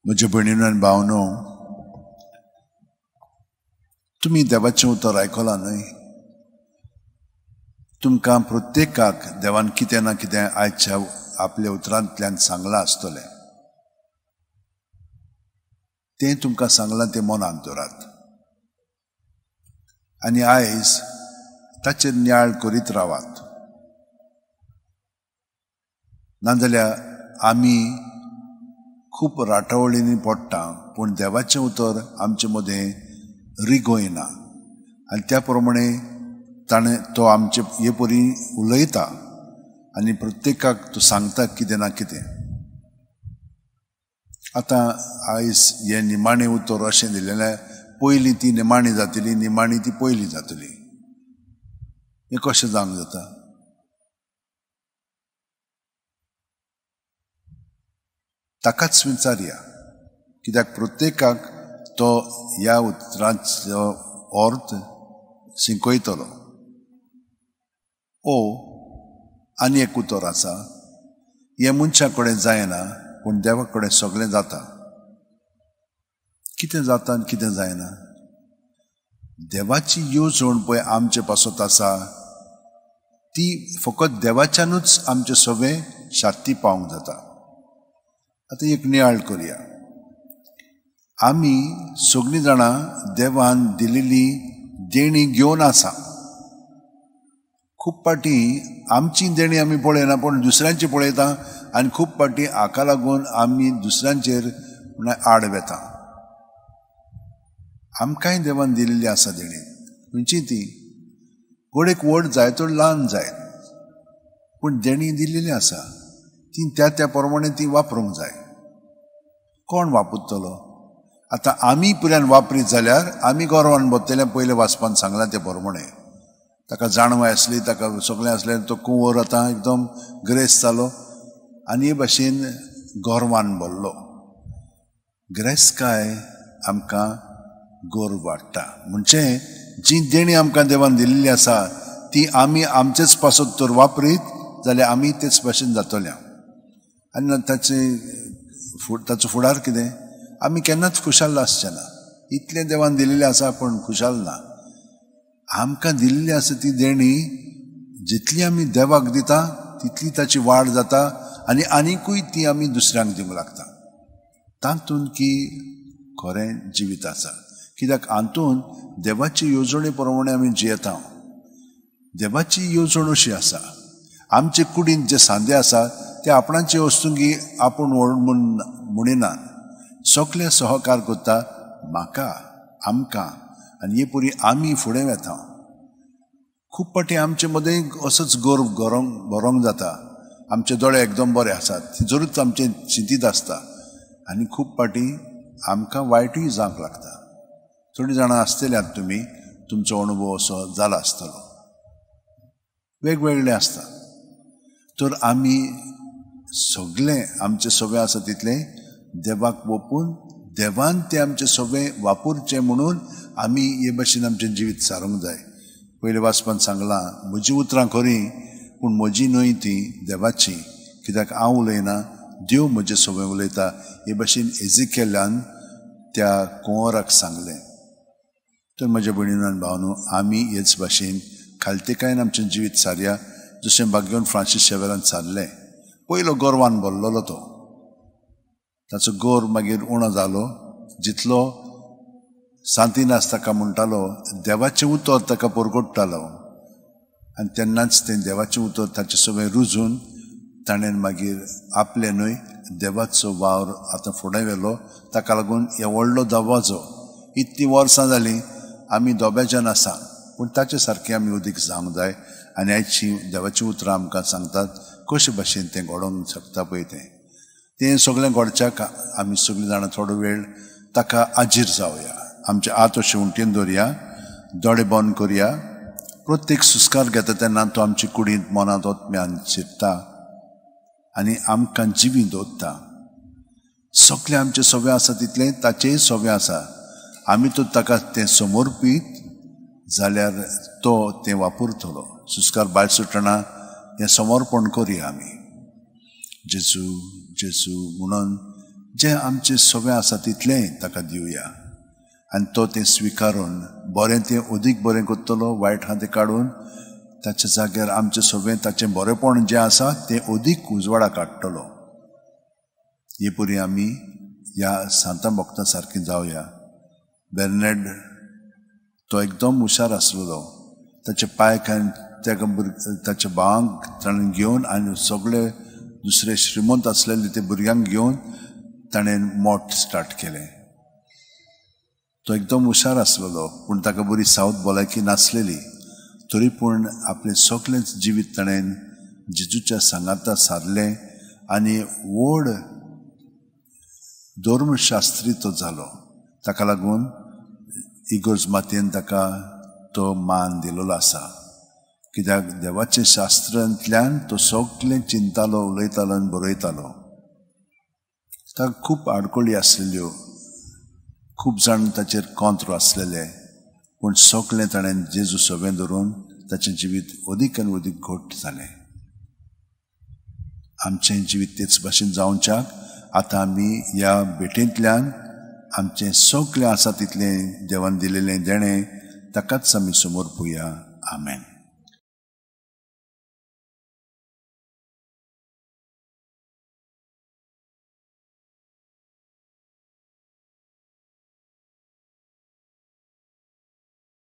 म्हज्या भयणीनो आनी भावनो, तुमी देवाचें उतर आयकलां न्हय? तुमकां प्रत्येकाक देवान कितें ना कितें आयच्या आपल्या उतरांतल्यान सांगलां आसतलें. तें तुमकां सांगलां तें मनांत दवरात आनी आयज ताचेर नियाळ करीत रावात. नाजाल्यार आमी खूब राटावळींनी पडटा, पूण देवाचें उतर आमचे मदें रिगयना आनी त्या प्रमाणे ताणें तो आमचे हे परी उलयता आनी प्रत्येकाक तो सांगता कितें ना कितें. आतां आयज हें निमाणें उतर अशें दिलेलें, पयलीं ती निमाणी जातली, निमाणी ती पयलीं जातली. हें कशें जावंक जाता? ताकाच विचारया, कित्याक प्रत्येकाक तो ह्या उतरांचो अर्थ शिकयतलो. ओ आनी एक उतर आसा, हें मनशा कडेन जायना पूण देवा कडेन सगळें जाता. कितें जाता आनी कितें जायना? देवाची येवजण पळय आमचे पासत आसा, ती फकत देवाच्यानूच आमचें सगळें शांती पावंक जाता. आतां एक नियाळ करया. आमी सगळीं जाणां देवान दिलेली देणी घेवन आसा. खूब फावटी आमची देणी आमी पळयना पूण दुसऱ्यांची पळयता आनी खूब फावटी हाका लागून आमी दुसऱ्यांचेर म्हळ्यार आड वेता. आमकांय देवान दिलेली आसा देणी. खंयची ती? घडयेक व्हड जाय तर ल्हान जायत, पूण देणी दिलेली आसा, ती त्या त्या प्रमाणे ती वापरूंक जाय. कोण वापरतलो? आतां आमी पुरान वापरीत जाल्यार आमी गर्वान बसतले. पयलें वाचपान सांगलां ते प्रमाणे ताका जाणवाय आसली, ताका सगळें आसलें, तो कुंवर आतां एकदम ग्रेस जालो आनी हे भाशेन गर्वान भरलो. ग्रेस काय आमकां गर्व वाडटा. म्हणजे जी देणी आमकां देवान दिल्ली आसा ती आमी आमचेच पासत तर वापरीत जाल्यार आमी तेच भाशेन जातले. आनी ताचो फुडार कितें? आमी केन्नाच खुशाल आसचे ना. इतलें देवान दिलेलें आसा पूण खुशाल ना. आमकां दिल्ली आसा ती देणी जितली आमी देवाक दिता तितली ताची वाड जाता आनी आनिकूय ती आमी दुसऱ्यांक दिवंक लागता. तातूंत की खरें जिवीत आसा, कित्याक हातूंत देवाची येवजणे प्रमाणे आमी जियेता. देवाची येवजण अशी आसा, आमचे कुडींत जे सांदे आसा ते आपणाचे वस्तुंगी आपूण व्हड म्हूण म्हणिनात, सगळे सहकार करता म्हाका, आमकां, आनी हे परी आमी फुडें वेता. खूब फावटी आमचे मदें असोच गर्व भरोंक जाता. आमचे दोळे एकदम बरे आसात, जरूच आमचें चिंतीत आसता आनी खूब फावटी आमकां वायटूय जावंक लागता. थोडीं जाणां आसतल्यात तुमी, तुमचो अणभव असो जाला आसतलो. वेगवेगळे आसता. तर आमी सगळें आमचें सगळें आसा तितलें देवाक ओपून देवान तें आमचें सगळें वापरचें म्हणून आमी हे भाशेन आमचें जिवीत सारूंक जाय. पयलें वाचपान सांगलां, म्हजीं उतरां खरीं पूण म्हजी न्हय ती देवाची, कित्याक हांव उलयना, देव म्हजें सगळें उलयता. हे भाशेन एजिकेल्यान त्या कुंवराक सांगलें. तर म्हज्या भयणीनो आनी भावनो, आमी हेच भाशेन खालतेकायेन आमचें जिवीत सारया, जशें भाग्यवंत फ्रांसीस शेवेरान सारलें. पयलो गर्वान भरलेलो तो, ताचो गर्व मागीर उणो जालो. जितलो सांतिनास ताका म्हणटालो, देवाचें उतर ताका परगट्टालो आनी तेन्नाच तें देवाचें उतर ताचें सगळें रुजून ताणें मागीर आपलें न्हय देवाचो वावर आतां फुडें व्हेलो. ताका लागून हे व्हडलो दबाजो. इतलीं वर्सां जालीं आमी दोब्याच्यान आसा, पूण ताचे सारकें आमी उदीक जावंक जाय. आनी आयची देवाचीं उतरां आमकां सांगतात कशे भाशेन तें घडोवंक शकता पळय. तें तें सगळें घडच्याक आमी सगळीं जाणां थोडो वेळ ताका आजीर जावया. आमचे हात अशें उंटेन दवरया, दोळे बंद करया. प्रत्येक सुस्कार घेता तेन्ना तो आमचे कुडींत, मनांत, आत्म्यान शिरता आनी आमकां जिवी दवरता. सगळें आमचें सगळें आसा तितलें ताचेंय सगळें आसा. आमी तो ताका तें समर्पीत जाल्यार तो तें वापरतलो. सुस्कार भायर सुटना हें समर्पण करया आमी. जेजू जेजू म्हणून जें आमचें सगळें आसा तितलेंय ताका दिवया आनी तो तें स्विकारून बरें तें अदीक बरें करतलो, वायट आहा तें काडून ताच्या जाग्यार आमचें सगळें ताचें बरेंपण जें आसा तें अदीक उजवाडा काडटलो. हे परी आमी ह्या सांतां भक्तां सारकीं जावया. बेर्नेड तो एकदम हुशार आसलेलो. ताचे पायक आनी ताच्या भावांक ताणें घेवन आनी सगळे दुसरे श्रीमंत आसलेले ते भुरग्यांक घेवन ताणें मोठ स्टार्ट केलें. तो एकदम हुशार आसलेलो, पूण ताका बरी सावत भलायकी नासलेली. तरी पूण आपलें सगळेंच जिवीत ताणें जेजूच्या सांगाता सारलें आनी व्हड धर्मशास्त्री तो जालो. ताका लागून इगर्ज मातयेन ताका तो मान दिलेलो आसा, कित्याक देवाच्या शास्त्रांतल्यान तो सगळें चिंतालो, उलयतालो आनी बरयतालो. ताका खूब आडखळी आसलेल्यो, खूब जाण ताचेर कॉंत्र आसलेले, पूण सगळें ताणें जेजू सगळें धरून ताचें जिवीत अदीक आनी अदीक घट जालें. आमचें जिवीत तेच भाशेन जावच्याक आतां आमी ह्या भेटेंतल्यान आमचें सगळें आसा तितलें देवान दिलेलें देणें ताकाच आमी समर्पुया. आमेन.